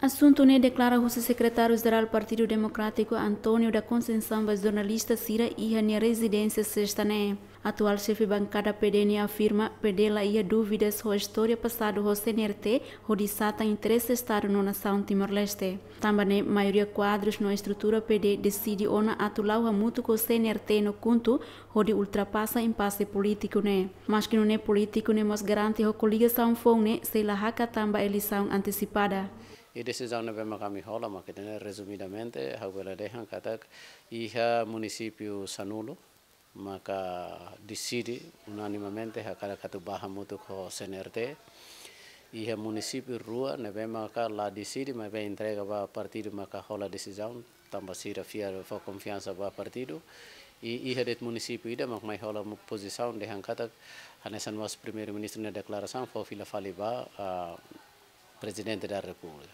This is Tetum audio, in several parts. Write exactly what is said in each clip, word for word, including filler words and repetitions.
Asuntu ne'e deklara husi Sekretáriu Jerál Partidu Demokrátiku António da Conceição ba jornalista sira iha nia rezidénsia Sesta ne'e. Atuál xefe bankada P D nia afirma P D la iha dúvidas ho istória pasadu ho C N R T hodi satan interese Estadu no nasaun Timor-Leste. Tanba ne'e maioria kuadrus no estrutura P D deside ona atu la'o hamutuk ho C N R T no KHUNTO hodi ultrapasa impase polítiku ne'e. Maski nune'e polítiku ne'e mós garante ho koligasaun foun ne'e sei la hakat tan ba eleisaun antesipada. I desizaun ne'ebé maka ami hola, maka ida-ne'e rezumidamente, ha'u bele dehan katak iha munisípiu sanulu maka deside unanimamente hakarak atu bá hamutuk ho C N R T. Iha munisípiu rua ne'ebé maka la deside, maibé entrega ba partidu maka hola desizaun, tanba sira fiar fó konfiansa ba partidu. I iha de'it munisípiu ida mak mai hola mu-, pozisaun dehan katak hanesan mós Primeiru-Ministru nia deklarasaun fó fila fali ba, ah, Prezidente da Repúblika.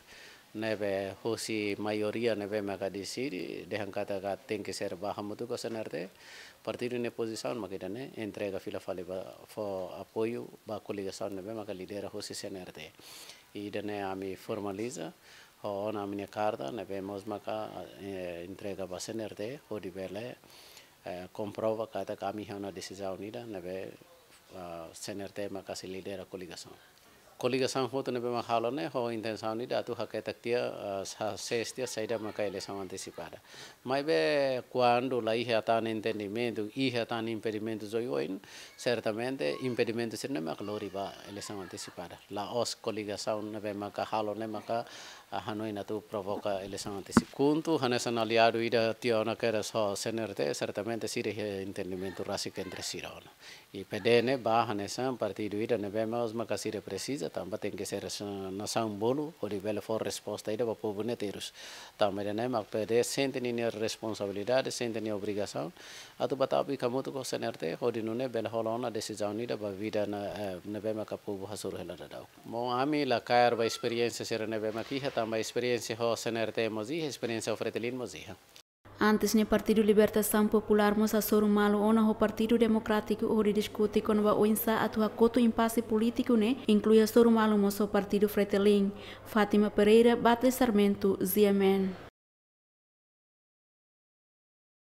Ne'ebé husi maioria ne'ebé maka deside dehan katak tenke ser bá hamutuk ho C N R T, partidu nia pozisaun mak ida-ne'e, entrega fila fali ba fó apoiu ba koligasaun ne'ebé maka lidera husi C N R T. I ida-ne'e ami formaliza ho ona ami-nia karta ne'ebé mós maka, eh, entrega ba C N R T hodi bele, eh, komprova katak ami iha ona desizaun ida ne'ebé, ah, C N R T maka sei lidera koligasaun. Koligasaun hotu ne'ebé mak halo ne'e ho intensaun ida atu haketak tiha, ah, sa-, ses tiha saida maka eleisaun antesipada. Maibé kuandu la iha tan entendimentu, iha tan impedimentus oioin, sertamente impedimentu sira-ne'e maka lori ba eleisaun antesipada. La'ós koligasaun ne'ebé maka halo ne'e maka, ah, hanoin atu provoka eleisaun antesipada. KHUNTO hanesan aliadu ida tiha ona kedas ho C N R T, sertamente sira iha entendimentu rasik entre sira ona. I P D ne'e bá hanesan partidu ida ne'ebé mós maka sira presiza, tanba tenke ser sa-, nasaun bolu, hodi bele fó resposta ida ba povu ne'e terus. Tanba ida-ne'e mak P D sente ninia responsabilidade, sente nia obrigasaun atu bá tau hamutuk ho C N R T, hodi nune'e bele hola ona desizaun ida ba vida na, eh, ne'ebé maka povu hasoru hela daudaun. Maun, ami la kaer ba esperiénsia sira ne'ebé mak iha, tanba esperiénsia ho C N R T mós iha, esperiénsia ho Fretilin mós iha. Antes ne'e Partidu Libertasaun Populár mós hasoru malu ona ho Partidu Demokrátiku hodi diskute kona-ba oinsá atu hakotu impase polítiku ne'e, inklui hasoru malu mós ho Partidu Fretilin. Fátima Pereira, Batles Sarmento, G M N.